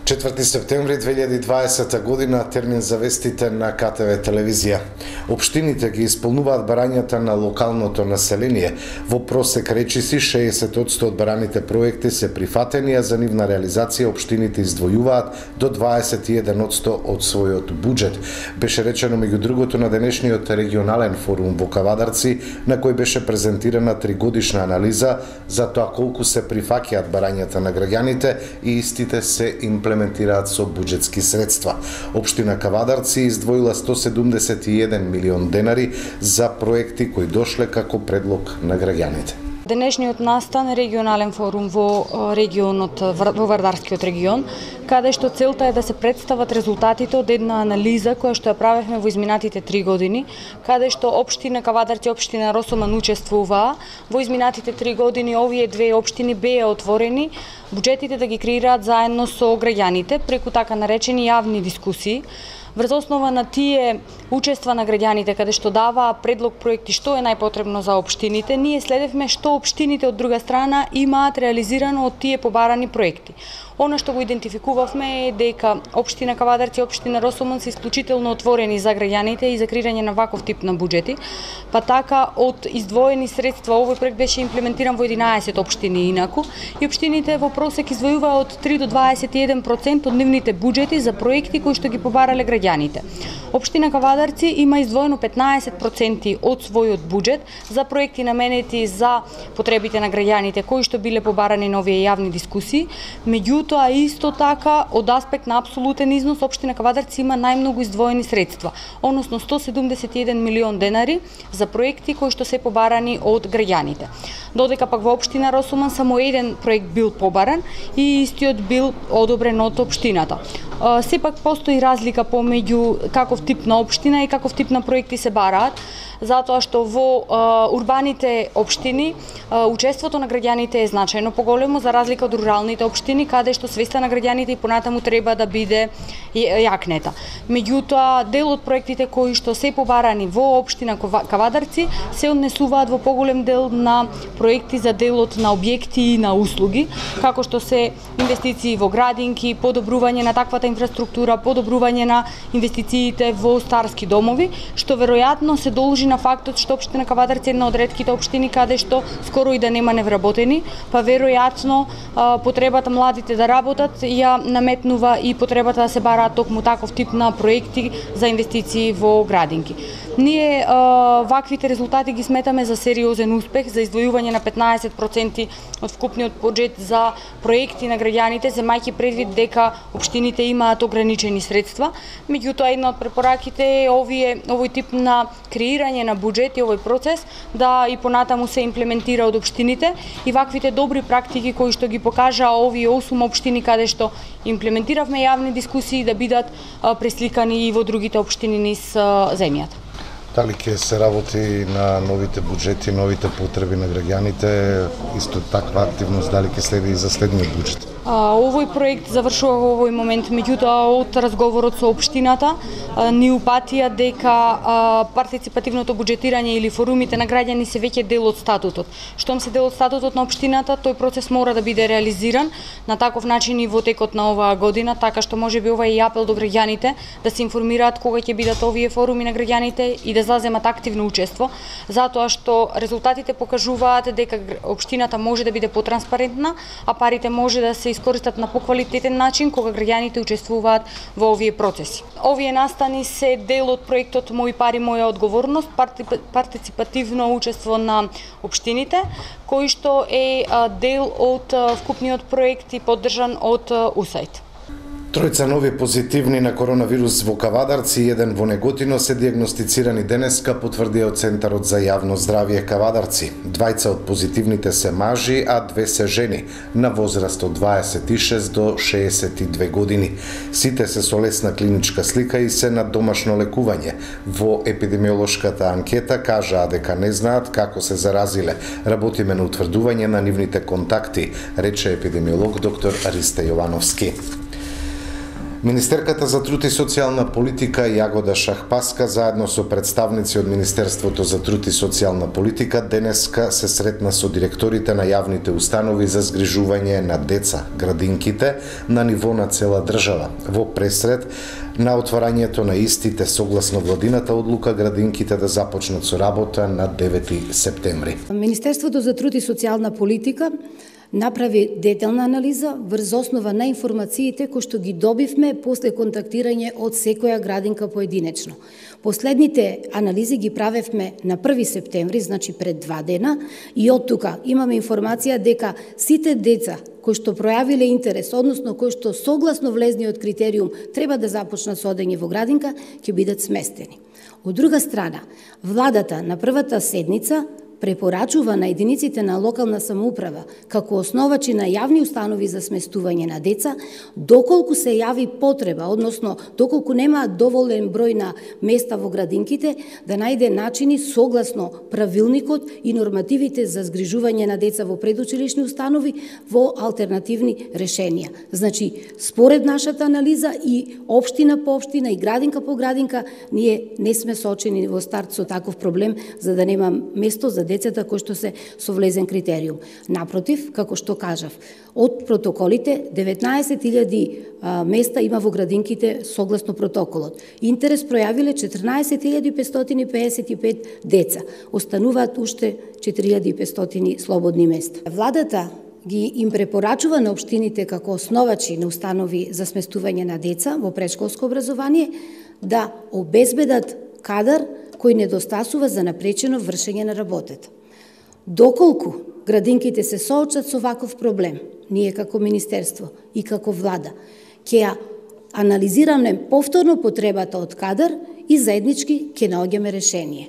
Четврти септември 2020 година, термин за вестите на КТВ телевизија. Општините ги исполнуваат барањата на локалното население. Во просек речиси 60% од бараните проекти се прифатени, а за нивна реализација општините издвојуваат до 21% од својот буџет. Беше речено меѓу другото на денешниот регионален форум во Кавадарци, на кој беше презентирана тригодишна анализа за тоа колку се прифаќаат барањата на граѓаните и истите се имплементираат со буџетски средства. Општина Кавадарци издвоила 171 милион денари за проекти кои дошле како предлог на граѓаните. Денешниот настан регионален форум во регионот, во Вардарскиот регион, каде што целта е да се представат резултатите од една анализа која што ја правевме во изминатите 3 години, каде што општина Кавадарци и општина Росоман учествуваа. Во изминатите 3 години овие две општини беа отворени буџетите да ги креираат заедно со граѓаните преку така наречени јавни дискусии. Врз основа на тие учества на граѓаните каде што даваа предлог проекти што е најпотребно за општините, ние следевме што општините од друга страна имаат реализирано од тие побарани проекти. Она што го идентификувавме е дека општина Кавадарци и општина Росоман се исклучително отворени за граѓаните и за креирање на ваков тип на буџети, па така од издвоени средства овој проект беше имплементиран во 11 општини инаку и општините во просек издвојуваа од 3 до 21% од нивните буџети за проекти кои што ги побарале граѓаните. Општина Кавадарци има издвоено 15% од својот буџет за проекти наменети за потребите на граѓаните кои што биле побарани на овие јавни дискусии. Меѓутоа исто така од аспект на апсолутен износ општина Кавадарци има најмногу издвоени средства, односно 171 милион денари за проекти кои што се побарани од граѓаните. Додека пак во општина Росоман само еден проект бил побаран и истиот бил одобрен од општината. Сепак постои разлика помеѓу каков тип на општина и каков тип на проекти се бараат, затоа што во урбаните општини учеството на граѓаните е значајно поголемо за разлика од руралните општини каде што свеста на граѓаните и понатаму треба да биде јакнета. Меѓутоа дел од проектите кои што се побарани во општина Кавадарци се однесуваат во поголем дел на проекти за делот на објекти и на услуги, како што се инвестиции во градинки, подобрување на таквата инфраструктура, подобрување на инвестициите во старски домови, што веројатно се должи на фактот што општина Кавадарци е една од ретките општини каде што скоро и да нема невработени, па веројатно потребата младите да работат ја наметнува и потребата да се бараат токму таков тип на проекти за инвестиции во градинки. Ние ваквите резултати ги сметаме за сериозен успех за издвојување на 15% од вкупниот буџет за проекти на граѓаните, земајќи предвид дека општините имаат ограничени средства. Меѓутоа една од препораките е овој тип на креирање на буџет и овој процес да и понатаму се имплементира од општините и ваквите добри практики кои што ги покажаа овие 8 општини каде што имплементиравме јавни дискусии да бидат пресликани и во другите општини низ земјата. Дали ќе се работи на новите буџети, новите потреби на граѓаните, исто таква активност дали ќе следи и за следниот буџет? Овој проект завршува во овој момент, меѓутоа од разговорот со општината ни упатија дека партиципативното буџетирање или форумите на граѓани се веќе дел од статутот. Штом се дел од статутот на општината, тој процес мора да биде реализиран на таков начин и во текот на оваа година, така што можеби ова е апел до граѓаните да се информираат кога ќе бидат овие форуми на граѓаните и да заземат активно учество, затоа што резултатите покажуваат дека општината може да биде потранспарентна, а парите може да се искористат на поквалитетен начин кога граѓаните учествуваат во овие процеси. Овие настани се дел од проектот Мои пари, моја одговорност, партиципативно учество на општините, кој што е дел од вкупниот проект и поддржан од УСАИД. Тројца нови позитивни на коронавирус во Кавадарци и еден во Неготино се диагностицирани денеска, потврдија од Центарот за јавно здравје Кавадарци. Двајца од позитивните се мажи, а 2 се жени, на возраст од 26 до 62 години. Сите се со лесна клиничка слика и се на домашно лекување. Во епидемиолошката анкета кажаа дека не знаат како се заразиле. Работиме на утврдување на нивните контакти, рече епидемиолог доктор Ристе Јовановски. Министерката за труд и социјална политика Јагода Шахпаска заедно со представници од Министерството за труд и социјална политика денеска се сретна со директорите на јавните установи за згрижување на деца, градинките, на ниво на цела држава. Во пресред на отварањето на истите согласно владината одлука градинките да започнат со работа на 9 септември. Министерството за труд и социјална политика направи детална анализа врз основа на информациите кои што ги добивме после контактирање од секоја градинка поединечно. Последните анализи ги правевме на 1 септември, значи пред 2 дена, и од тука имаме информација дека сите деца кои што пројавиле интерес, односно кои што согласно влезниот критериум треба да започнат со одење во градинка, ќе бидат сместени. Од друга страна, владата на првата седница препорачува на единиците на локална самоуправа како основачи на јавни установи за сместување на деца, доколку се јави потреба, односно доколку немаат доволен број на места во градинките, да најде начини согласно правилникот и нормативите за згрижување на деца во предучилишни установи во алтернативни решенија. Значи, според нашата анализа и општина по општина и градинка по градинка, ние не сме соочени во старт со таков проблем за да нема место за децата кои што се со влезен критериум. Напротив, како што кажав, од протоколите 19.000 места има во градинките согласно протоколот. Интерес пројавиле 14.555 деца. Остануваат уште 4.500 слободни места. Владата им препорачува на општините како основачи на установи за сместување на деца во претшколско образование да обезбедат кадар кој недостасува за напречено вршење на работата. Доколку градинките се соочат со ваков проблем, ние како Министерство и како влада ќе ја анализираме повторно потребата од кадар и заеднички ќе наоѓаме решение.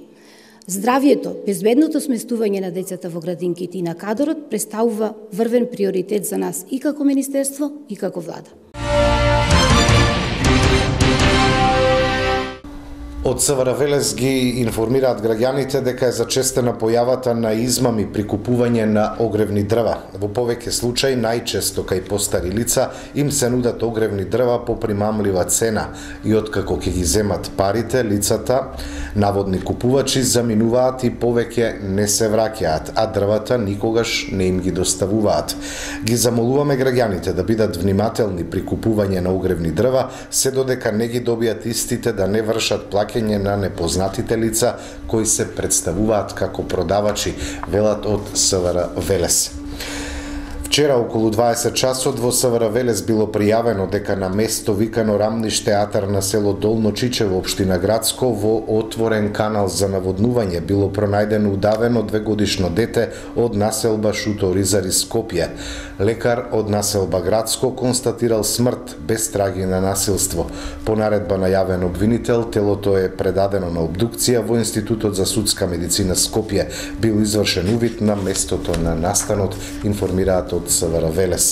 Здравието, безбедното сместување на децата во градинките и на кадарот представува врвен приоритет за нас и како Министерство и како влада. Од СВР Велес ги информираат граѓаните дека е зачестена појавата на измами при купување на огревни дрва. Во повеќе случаи, најчесто кај постари лица, им се нудат огревни дрва по примамлива цена и откако ќе ги земат парите, лицата, наводни купувачи, заминуваат и повеќе не се враќаат, а дрвата никогаш не им ги доставуваат. Ги замолуваме граѓаните да бидат внимателни при купување на огревни дрва, се додека не ги добијат истите да не вршат плаќање на непознатите лица кои се представуваат како продавачи, велат од СВР Велес. Вчера околу 20 часот во СВР Велес било пријавено дека на место викано Рамниш театар на село Долно Чичево, општина Градско, во отворен канал за наводнување било пронајдено удавено 2-годишно дете од населба Шуто Ризари Скопје. Лекар од населба Градско констатирал смрт без траги на насилство. По наредба на јавен обвинител, телото е предадено на обдукција во Институтот за судска медицина Скопје. Бил извршен увид на местото на настанот, информираат од СВР Велес.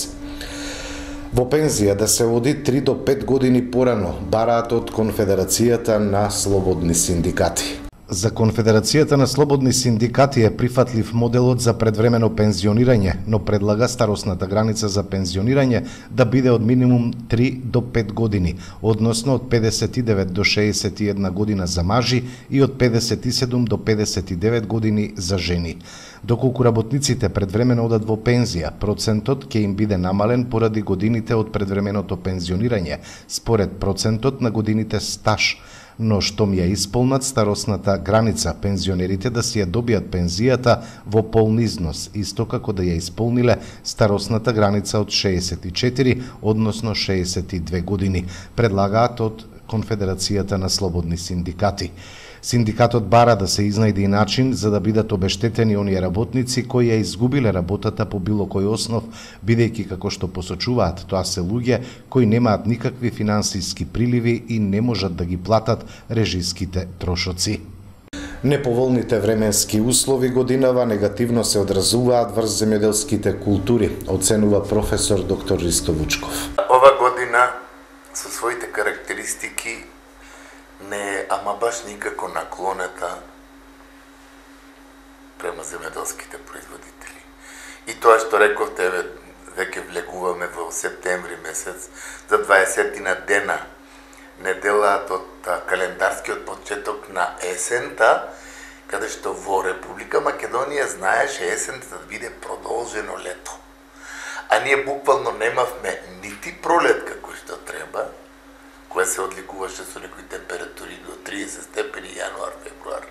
Во пензија да се оди 3 до 5 години порано, бараат од Конфедерацијата на слободни синдикати. За Конфедерацијата на слободни синдикати е прифатлив моделот за предвремено пензионирање, но предлага старосната граница за пензионирање да биде од минимум 3 до 5 години, односно од 59 до 61 година за мажи и од 57 до 59 години за жени. Доколку работниците предвремено одат во пензија, процентот ќе им биде намален поради годините од предвременото пензионирање, според процентот на годините стаж, но штом ја исполнат старосната граница, пензионерите да си ја добијат пензијата во полн износ, исто како да ја исполниле старосната граница од 64, односно 62 години, предлагаат од Конфедерацијата на слободни синдикати. Синдикатот бара да се изнајде и начин за да бидат обештетени оние работници кои ја изгубиле работата по било кој основ, бидејќи како што посочуваат, тоа се луѓе кои немаат никакви финансиски приливи и не можат да ги платат режиските трошоци. Неповолните временски услови годинава негативно се одразуваат врз земјоделските култури, оценува професор доктор Ристо Вучков. Ова година со своите карактеристики не е ама баш никако наклонета према земјоделските производители. И тоа што рековте, веќе влегуваме во септември месец, за 20 дена, неделаат од календарскиот почеток на есента, каде што во Република Македонија знаеше есента да биде продолжено лето. А ние буквално немавме нити пролет како што треба, која се одликуваше со некои температури до 30 степени јануар, февруар.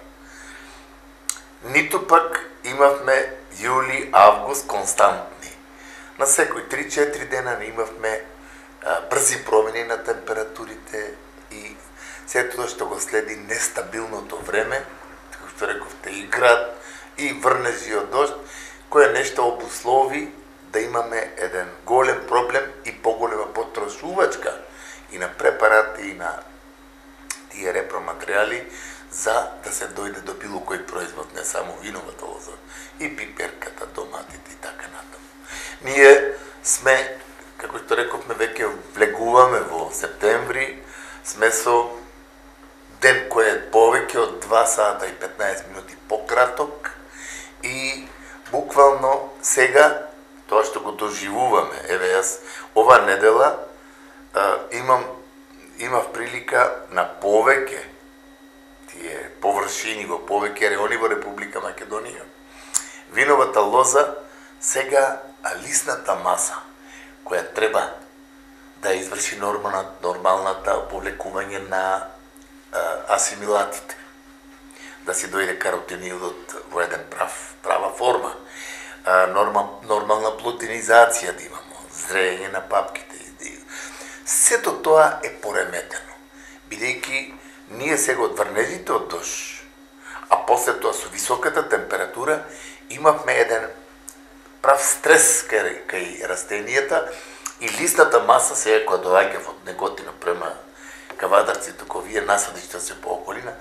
Ниту пак имавме јули, август константни. На секој 3-4 дена не имавме брзи промени на температурите и се тоа што го следи нестабилното време, како што рековте, и град, и врнежи од дожд, кое нешто обуслови да имаме еден голем проблем и поголема потрошувачка и на препарати, и на тие репроматеријали, за да се дојде до било кој производ, не само виновата лоза, и пиперката, доматите и така натаму. Ние сме, како што рековме, веќе влегуваме во септември, сме со ден кој е повеќе од 2 сата и 15 минути пократок и буквално сега тоа што го доживуваме. Еве јас ова недела имав прилика на повеќе тие површини во повеќе реони во Република Македонија. Виновата лоза сега лисната маса која треба да изврши нормалната повлекување на асимилатите, да си дојде каротинидот во еден права форма, нормална плутинизација да имамо, зрење на папките. Сето тоа е пореметено, бидејќи ние сега од врнежите од дожд, а после тоа со високата температура имавме еден прав стрес кај растенијата и листната маса сега која доаѓа од Неготино према Кавадарци, туку вие насадиште се по околина,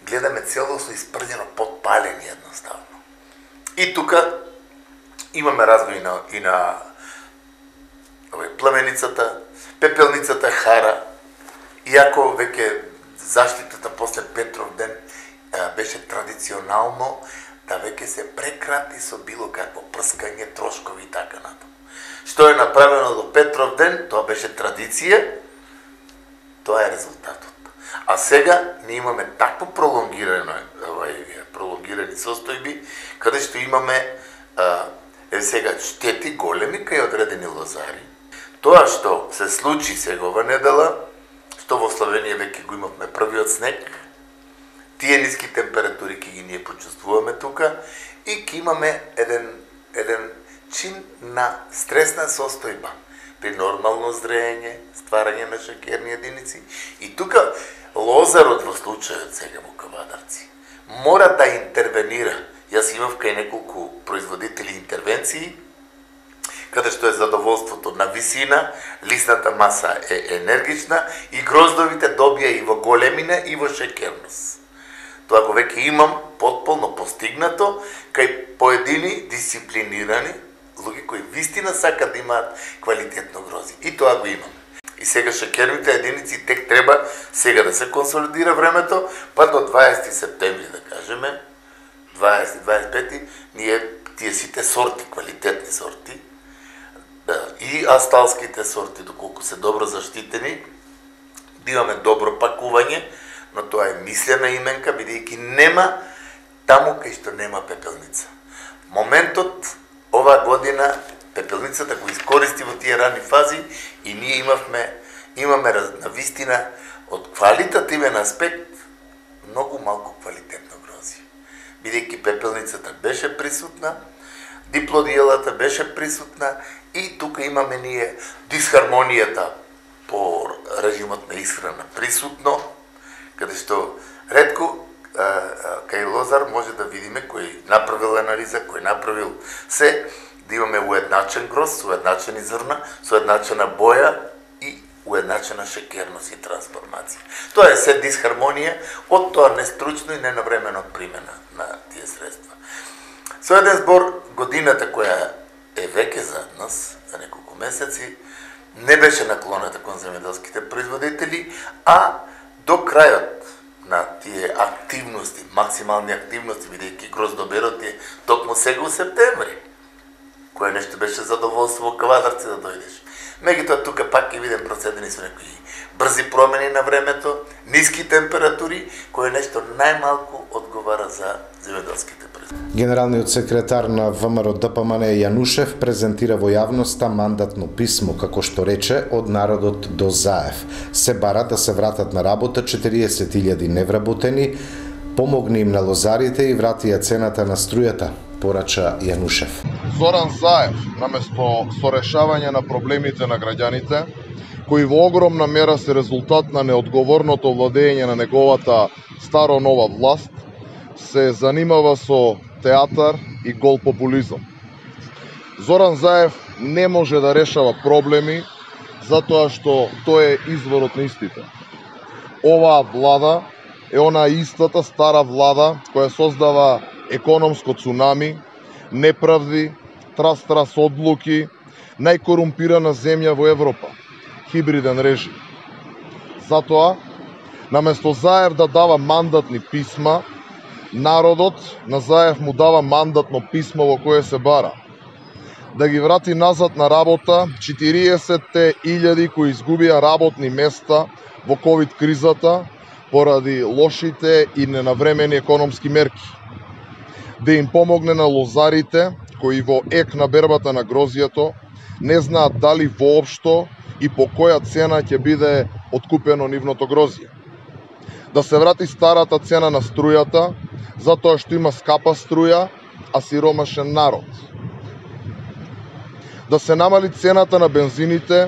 гледаме целосно испрдено подпалени едноставно. И тука имаме развој и на пламеницата, пепелницата хара, иако веќе заштитата после Петров ден беше традиционално да веќе се прекрати со било какво прскање, трошкови и така натаму. Што е направено до Петров ден, тоа беше традиција, тоа е резултатот. А сега ние имаме такво пролонгирани состојби, каде што имаме сега штети големи кај одредени лозари. Тоа што се случи сега ова недела, што во Словенија веќе го имавме првиот снег, тие ниски температури ки ги ние почувствуваме тука и ки имаме еден чин на стресна состојба при нормално зрење, стварање на шеќерни единици. И тука лозарот во случајот сега во Кавадарци мора да интервенира. Јас имав кај неколку производители интервенции, каде што е задоволството на висина, лисната маса е енергична и гроздовите добија и во големина и во шеќерност. Тоа го веќе имам потполно постигнато кај поедини дисциплинирани луѓе кои вистина сакат да имаат квалитетно грозди. И тоа го имам. И сега шеќерните единици тек треба сега да се консолидира времето, па до 20 септември да кажеме, 20-25, ние тие сите сорти, квалитетни сорти, и асталските сорти, доколку се добро заштитени, да имаме добро пакување, но тоа е мислена именка, бидејќи нема таму кај што нема пепелница. Моментот оваа година пепелницата го искористи во тие рани фази и ние имаме на вистина од квалитативен аспект многу малку квалитетно грозје. Бидејќи пепелницата беше присутна, диплодиелата беше присутна и тука имаме ние дисхармонијата по режимот на исхрана присутно, каде што ретко кај лозар може да видиме кој направил анализа, кој направил се, да имаме уедначен гроз, уедначени зрна, со уедначена боја и уедначена шеќерност и трансформација. Тоа е се дисхармонија од тоа нестручно и ненавремено примена на тие средства. Со еден збор, годината која е веќе зад нас, за неколку месеци, не беше наклоната кон земјоделските производители, а до крајот на тие активности, максимални активности, бидејќи гроздоберот е токму сега у септември. кое нешто беше задоволство во Квадарци да дојдеш. Меѓутоа тука пак ќе видим процедени со некои брзи промени на времето, ниски температури, кое нешто најмалку одговара за земјоделските производства. Генералниот секретар на ВМРО ДПМН Јанушев презентира во јавноста мандатно писмо, како што рече, од народот до Заев. Се бара да се вратат на работа 40.000 невработени, помогни им на лозарите и вратија цената на струјата, порача Јанушев. Зоран Заев, наместо со решавање на проблемите на граѓаните, кои во огромна мера се резултат на неодговорното владење на неговата старо-нова власт, се занимава со театар и гол популизам. Зоран Заев не може да решава проблеми затоа што тој е изворот на истите. Оваа влада е она истата стара влада која создава економско цунами, неправди, трас одлуки, најкорумпирана земја во Европа, хибриден режим. Затоа, наместо Заев да дава мандатни писма, народот на Заев му дава мандатно писмо во кое се бара да ги врати назад на работа 40.000 кои изгубија работни места во ковид кризата поради лошите и ненавремени економски мерки. Да им помогне на лозарите кои во ек на бербата на грозјето не знаат дали воопшто и по која цена ќе биде откупено нивното грозје. Да се врати старата цена на струјата, затоа што има скапа струја, а сиромашен народ. Да се намали цената на бензините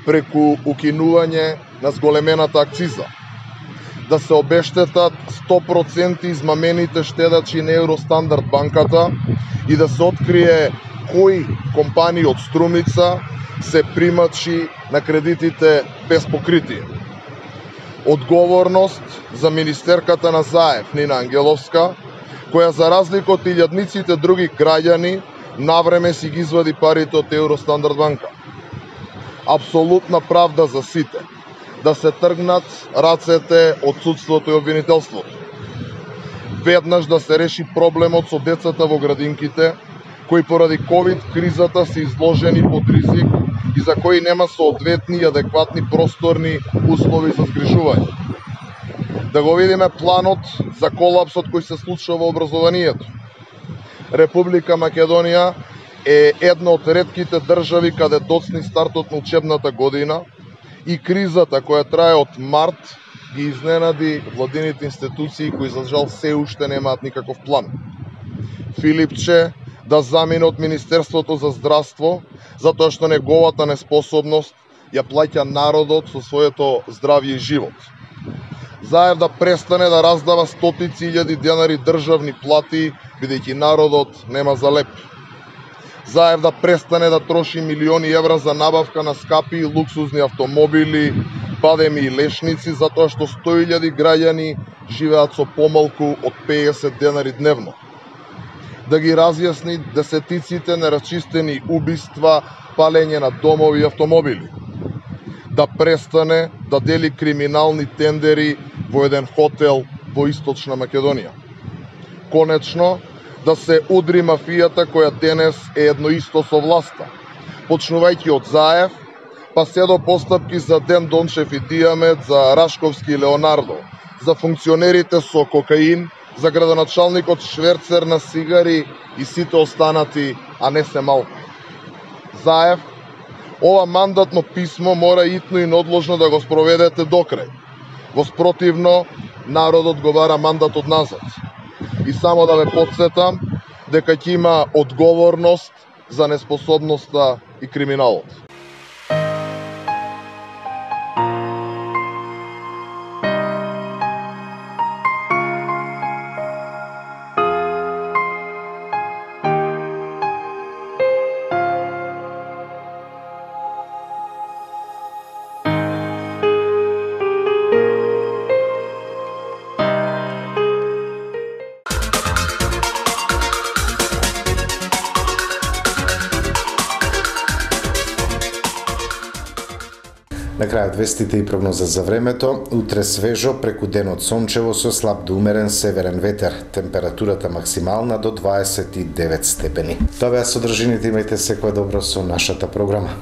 преку укинување на зголемената акциза. Да се обештетат 100% измамените штедачи на Евростандард банката и да се открие кои компании од Струмица се примачи на кредитите без покритие. Одговорност за министерката на Заев, Нина Ангеловска, која за разлика од илјадниците други граѓани навреме си ги извади парите од Евростандард банка. Апсолутна правда за сите. Да се тргнат рацете од судството и обвинителството. Веднаш да се реши проблемот со децата во градинките, кои поради ковид кризата се изложени под ризик и за кои нема соодветни и адекватни просторни услови за згрижување. Да го видиме планот за колапсот кој се случува во образованието. Република Македонија е една од ретките држави каде доцни стартот на учебната година и кризата која трае од март ги изненади владините институции кои за жал се уште немаат никаков план. Филипче да замине од Министерството за здравство затоа што неговата неспособност ја плаќа народот со своето здравје и живот. Заев да престане да раздава стотици илјади денари државни плати, бидејќи народот нема за леп. Заев да престане да троши милиони евра за набавка на скапи и луксузни автомобили, бадеми и лешници, затоа што 100.000 граѓани живеат со помалку од 50 денари дневно. Да ги разјасни десетиците нерасчистени убиства, палење на домови и автомобили. Да престане да дели криминални тендери во еден хотел во Источна Македонија. Конечно, да се удри мафијата која денес е едно исто со власта, почнувајќи од Заев, па се до постапки за Ден Дончев и Дијамет, за Рашковски и Леонардо, за функционерите со кокаин, за градоначалникот шверцер на сигари и сите останати, а не се малку. Заев, ова мандатно писмо мора итно и неодложно да го спроведете до крај. Во спротивно, народот го бара мандатот назад. И само да ве потсетам дека ќе има одговорност за неспособноста и криминалот. крајот вестите и прогноза за времето. Утре свежо, преку денот сончево со слаб до умерен северен ветер. Температурата максимална до 29 степени. Тоа беа содржините, имајте секое добро со нашата програма.